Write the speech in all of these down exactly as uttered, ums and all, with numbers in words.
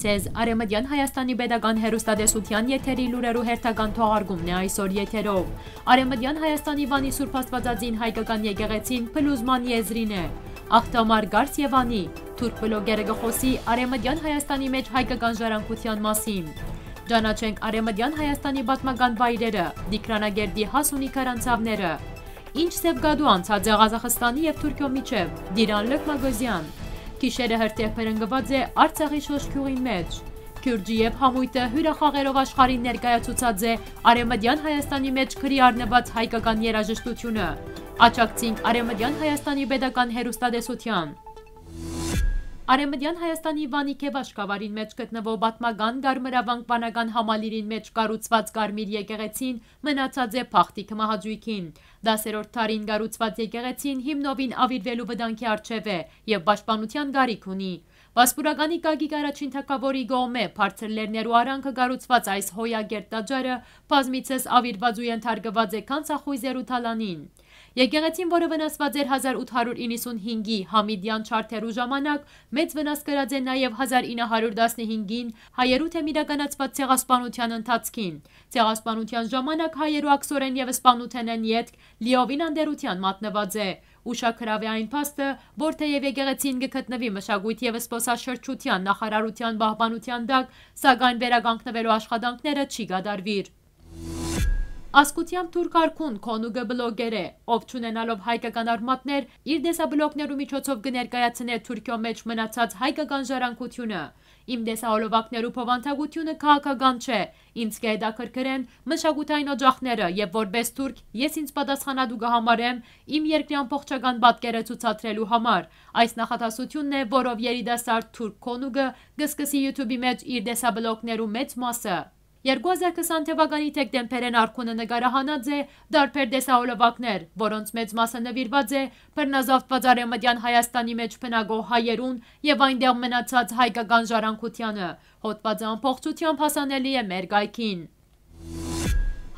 Ձեզ Արեւմտեան Հայաստանի պետական հեռուստատեսութեան եթերի լուրերու հերթական թողարկումն է այսօր եթերով։ Արեւմտեան Հայաստանի Վանի Սուրբ Աստվածածին հայկական եկեղեցին փլուզման եզրին է։ Աղթամար Գարս եւ Անի, թուրք բլոգերը կը խօսի Արեւմտեան Հայաստանի մէջ հայկական ժառանգութեան մասին։ Ճանաչենք Արեւմտեան Հայաստանի պատմական վայրերը, Տիգրանագերդի Հասունի քարանձաւները։ Ինչ սեւ գատու անցած է Ղազախստանի եւ Թուրքիոյ միջեւ, Դիրան Լըքմագոզեան։ Գիշերը հրդեհ բռնկուած է Արցախի Շոշ գիւղին մէջ։ Քիւրճի եւ համոյթը հիւրախաղերով աշխարհին ներկայացուցած է Արեւմտեան Հայաստանի մէջ գրի առնուած հայկական երաժշտութիւնը։ Աջակցինք Արեւմտեան Հայաստանի պետական հեռուստատեսութեան։ Արեւմտեան Հայաստանի Վանի Քեւաշ գաւառին մէջ գտնուող պատմական Կարմրավանք վանական համալիրին մէջ կառուցուած Կարմիր եկեղեցին մնացած է բախտի քմահաճոյքին։ Տասերորդ դարին կառուցուած եկեղեցին հիմնովին աւիրուելու վտանգի առջեւ է եւ պաշտպանութեան կարիք ունի։ Վասպուրականի կագիկ առաջին թագաւորի կողմէ բարձր լեռներու արանքը կառուցուած այս հոյակերտ տաճարը բազմիցս աւիրուած ու ենթարկուած է գանձախոյզերու թալանին։ Եկեղեցին, որը վնասուած էր հազար ութ հարիւր իննսունհինգի Համիդեան չարթերու ժամանակ, մեծ վնաս կրած է նաեւ հազար ինը հարիւր տասնհինգին հայերու դէմ իրականացուած ցեղասպանութեան ընթացքին։ Ցեղասպանութեան ժամանակ հայերու աքսորէն եւ սպանութենէն ետք լիովին անտերութեան մատնուած է։ Ուշագրաւ է այն փաստը, որ թէեւ եկեղեցին կը գտնուի մշակոյթ եւ զբօսաշրջութեան նախարարութեան պահպանութեան տակ, սակայն վերականգնուելու աշխատանքները չի կատարուիր։ Ազգութեամբ թուրք արքուն Քոնուկը բլոգեր է, ով, չունենալով հայկական արմատներ, իր տեսաբլոգներու միջոցով կը ներկայացնէ Թուրքիոյ մէջ մնացած հայկական ժառանգութիւնը։ Իմ տեսահոլովակներու բովանդակութիւնը քաղաքական չէ, ինձ կը հետաքրքրեն մշակութային օճախները եւ որպէս թուրք ես ինձ պատասխանատու կը համարեմ իմ երկրի ամբողջական պատկերը ցուցադրելու համար։ Այս նախադասութիւնն է, որով երիտասարդ թուրք Քոնուկը կը սկսի YouTube-ի մէջ իր տեսաբլոգներու մեծ մասը։ Երկու հազար քսան թվականի դեկտեմբերէն արքունը նկարահանած է տարբեր տեսահոլովակներ, որոնց մեծ մասը նուիրուած է բռնազավթուած Արեւմտեան Հայաստանի մէջ բնակող հայերուն եւ այնտեղ մնացած հայկական ժառանգութեանը։ Հոդվածը ամբողջությամբ հասանելի է մեր կայքին։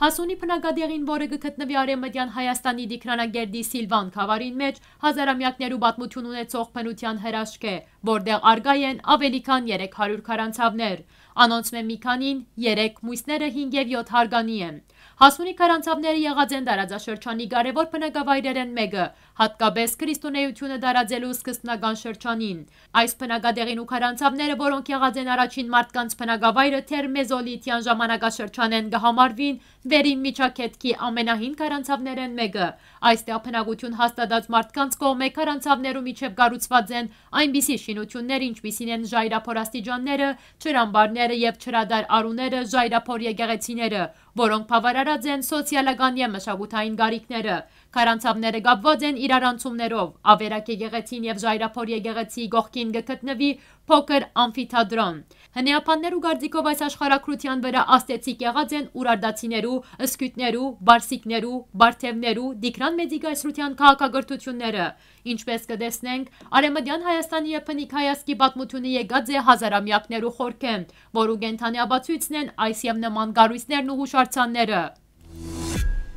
Հասունի բնակատեղին, որը կը գտնուի Արեւմտեան Հայաստանի Տիգրանագերդի Սիլվան գաւառին մէջ, հազարամեակներու պատմութիւն ունեցող բնութեան հրաշք է, որտեղ առկայ են աւելի քան երեք հարիւր քարանձաւներ։ Անոնցմէ մի քանին՝ երեք, միւսները՝ հինգ եւ եօթ հարգանի են։ Հասունի քարանձաւները եղած են տարածաշրջանի կարեւոր բնակավայրերէն մէկը, հատկապէս քրիստոնէութիւնը տարածելու սկզբնական շրջանին։ Այս բնակատեղին ու քարանձաւները, որոնք եղած են առաջին մարդկանց բնակավայրը դեռ մեզոլիթեան ժամանակաշրջանէն, կը համարուին վերին միջագետքի ամենահին քարանձաւներէն մէկը։ Այստեղ բնակութիւն հաստատած մարդկանց կողմէ քարանձաւներու միջեւ կառուցուած են այնպիսի շինութիւններ, ինչպիսին են ժայռափոր աստիճանները, ջրամբարները եւ ջրատար արուները, ժայռափոր եկեղեցիները, որոնք բաւարարած են սոցիալական եւ մշակութային կարիքները։ Քարանձաւները կապուած են իրարանցումներով։ Ավերակ եկեղեցին եւ ժայռափոր եկեղեցիի կողքին կը գտնուի փոքր ամֆիթատրոն։ Հնեաբաններու կարծիքով, այս աշխարհագրութեան վրայ ազդեցիկ եղած են ուրարտացիներու, սկիթներու, պարսիկներու, պարթեւներու, Տիգրան Մեծի կայսրութեան քաղաքակրթութիւնները։ Ինչպէս կը տեսնենք, Արեւմտեան Հայաստանի եւ բնիկ հայ ազգի պատմութիւնը եկած է հազարամեակներու խորքէն, որու կենդանի ապացոյցն են այս եւ նման կառոյցներն ու յուշարձանները։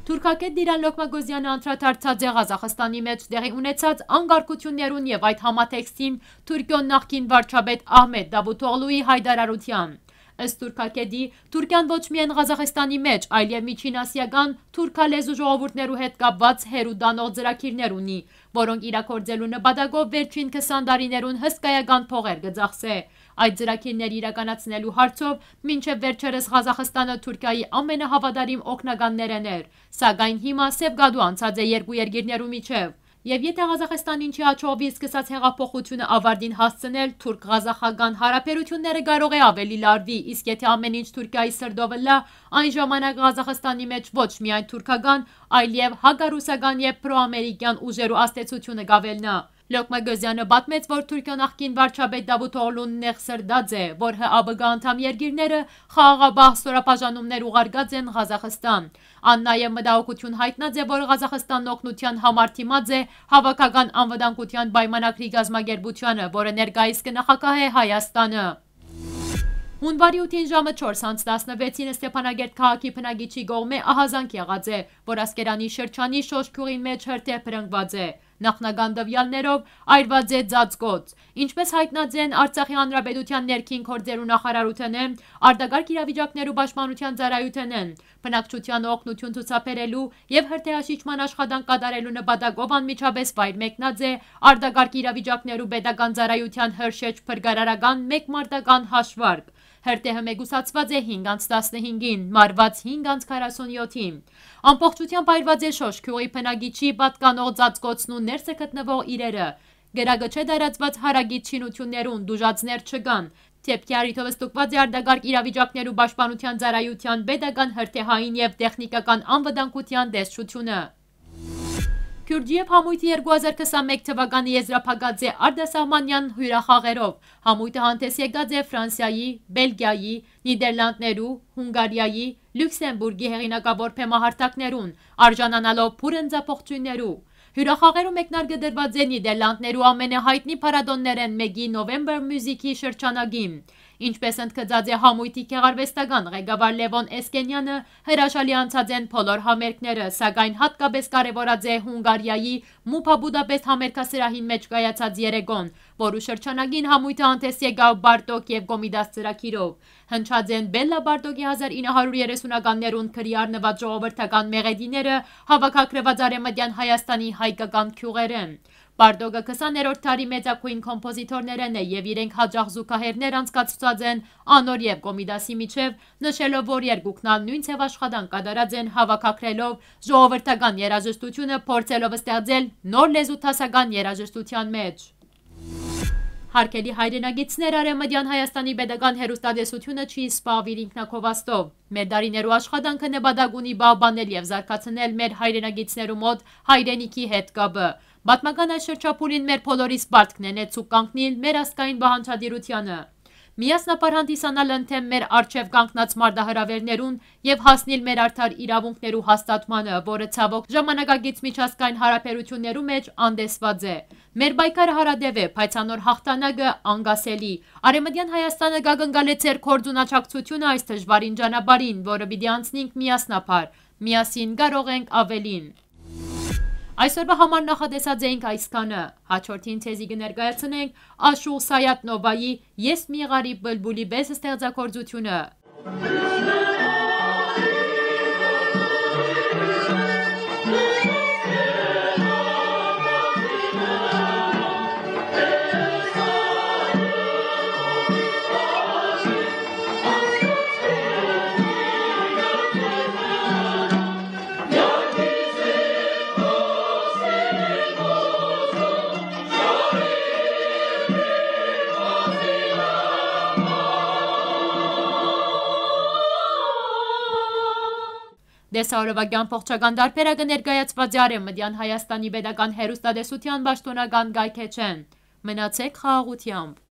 Թուրքագետ Դիրան Լոկմագոզեանը անդրադարձած է Ղազախստանի մէջ տեղի ունեցած անկարգութիւններուն եւ այդ համատեքստին Թուրքիոյ նախկին վարչապետ Ահմետ Դավութօղլուի յայտարարութեան։ Ըստ թուրքագետի, Թուրքիան ոչ միայն Ղազախստանի մէջ, այլեւ միջին ասիական թուրքալեզու ժողովուրդներու հետ կապուած հեռու տանող ծրագիրներ ունի, որոնք իրագործելու նպատակով վերջին քսան տարիներուն հսկայական փողեր կը ծախսէ։ Այդ ծրագիրները իրականացնելու հարցով մինչեւ վերջերս Ղազախստանը Թուրքիայի ամենահաւատարիմ օգնականներէն էր, սակայն հիմա սեւ կատու անցած է երկու երկիրներու միջեւ։ Եւ եթէ Ղազախստանին չի յաջողուի սկսած յեղափոխութիւնը աւարտին հասցնել, թուրք-ղազախական յարաբերութիւնները կարող է աւելի լարուի, իսկ եթէ ամէն ինչ Թուրքիայի սրտով ըլլայ, այն ժամանակ Ղազախստանի մէջ ոչ միայն թուրքական, այլեւ հակառուսական եւ պրոամերիկեան ուժերու ազդեցութիւնը կ'աւելնայ։ Լոկմագոզեանը պատմեց, որ Թուրքիոյ նախկին վարչապետ Դավութօղլուն նեղսրտած է, որ Հ Ա Բ Կ անդամ երկիրները խաղաղապահ ստորաբաժանումներ ուղարկած են Ղազախստան։ Ան նաեւ մտահոգութիւն յայտնած է, որ Ղազախստանն օգնութեան համար դիմած է Հաւաքական անվտանգութեան պայմանագրի կազմակերպութեանը, որը ներկայիս կը նախագահէ Հայաստանը։ Յունուարի ութին ժամը չորս յանց տասնվեցին Ստեփանակերտ քաղաքի բնակիչի կողմէ ահազանգ եղած է, որ Ասկերանի շրջանի Շոշ գիւղին մէջ հրդեհ բռնկուած է։ Նախնական տուեալներով այրուած է ծածկոց։ Ինչպէս յայտնած են Արցախի Հանրապետութեան ներքին գործերու նախարարութենէն, արտակարգ իրավիճակներու պաշտպանութեան ծառայութենէն, բնակչութեան օգնութիւն ցուցաբերելու եւ հրդեհաշիջման աշխատանք կատարելու նպատակով անմիջապէս վայր մեկնած է արտակարգ իրավիճակներու պետական ծառայութեան Հրշեջ փրկարարական մեկմարտական հաշվարկ։ Հրդեհը մեկուսացուած է հինգ անց տասնհինգին, մարված հինգ անց քառասունյոթին։ Ամբողջութեամբ այրուած է Շոշ գիւղի բնակիչի պատկանող ծածկոցն ու ներսը գտնուող իրերը։ Կրակը չէ տարածուած հարակից շինութիւններուն, տուժածներ չկան։ Դէպքի առիթով ստուգուած է արտակարգ իրավիճակներու պաշտպանութեան ծառայութեան պետական հրդեհային եւ տեխնիկական անվտանգութեան տեսչութիւնը։ Քիւրճիեւ համոյթը երկու հազար քսանմէկ թուականը եզրափակած է արտասահմանեան հիւրախաղերով։ Համոյթը հանդէս եկած է Ֆրանսիայի, Բելգիայի, Նիդերլանդներու, Հունգարիայի, Լիւքսեմբուրգի հեղինակաւոր բեմահարթակներուն, արժանանալով բուռն ձախողջոյններու։ Հիւրախաղերու մեկնարկը դրուած է Նիդերլանդներու ամենահայտնի փառատօններէն մէկի Նովեմբեր Միւզիքի շրջանակին։ Ինչպէս ընդգծած է համոյթի գեղարուեստական ղեկավար Լեւոն Էսկենյանը, հրաշալի անցած են բոլոր համերգները, սակայն յատկապէս կարեւորած է Հունգարիայի Մուփա Բուդապեստ համերգասրահին մէջ կայացած երեկոն, որու շրջանակին համոյթը հանդէս եկաւ Բարդոկ եւ Կոմիտաս ծրագիրով։ Հնչած են Բելլա Բարդոկի հազար ինը հարիւր երեսունականներուն գրի առնուած ժողովրդական մեղեդիները, հաւաքագրուած Արեւմտեան Հայաստանի հայկական գիւղերէն։ Բարդոկը քսաներորդ դարի մեծագոյն կոմպոզիտորներէն է եւ իրենք յաճախ զուգահեռներ անցկացուցած են անոր եւ Կոմիտասի միջեւ, նշելով, որ երկուքն ալ նոյն ձեւ աշխատանք կատարած են, հաւաքագրելով ժողովրդական երաժշտութիւնը, փորձելով ստեղծել նոր լեզու դասական երաժշտութեան մէջ։ Հարգելի հայրենակիցներ, Արեւմտեան Հայաստանի պետական հեռուստատեսութիւնը չի զբաղուիր ինքնակովաստով։ Մեր դարիներու աշխատանքը նպատակ ունի պահպանել եւ զարգացնել մեր հայրենակիցներու մօտ հայրենիքի հետ կապը։ Պատմական այս շրջափուլին մեր բոլորիս պարտքն է նեցուկ կանգնիլ մեր ազգային պահանջատիրությանը, միասնաբար հանդիսանալ ընդդեմ մեր առջեւ կանգնած մարտահրաւէրներուն եւ հասնիլ մեր արդար իրաւունքներու հաստատմանը, որը ցաւոք ժամանակակից միջազգային յարաբերութիւններու մէջ անտեսուած է։ Մեր պայքարը յարատեւ է, բայց անոր յաղթանակը՝ անկասելի։ Արեւմտեան Հայաստանը կակնկալէ ձեր գործունեաջակցութիւնը այս դժուարին ճանապարհին, որը պիտի անցնենք միասնաբար։ Միասին կարող ենք ավելին։ Այսօրվա համար նախատեսած էինք այսքանը։ Հաջորդին ձեզի կը ներկայացնենք Աշուղ Սայաթ Նովայի «Ես մի գարի բլբուլի» պէս ստեղծագործութիւնը։ Տեսաօրովակի ամբողջական տարբերակը ներկայացված է Արեւմտեան Հայաստանի պետական հեռուստատեսութեան պաշտօնական կայքէջէն։ Մնացեք խաղաղութեամբ։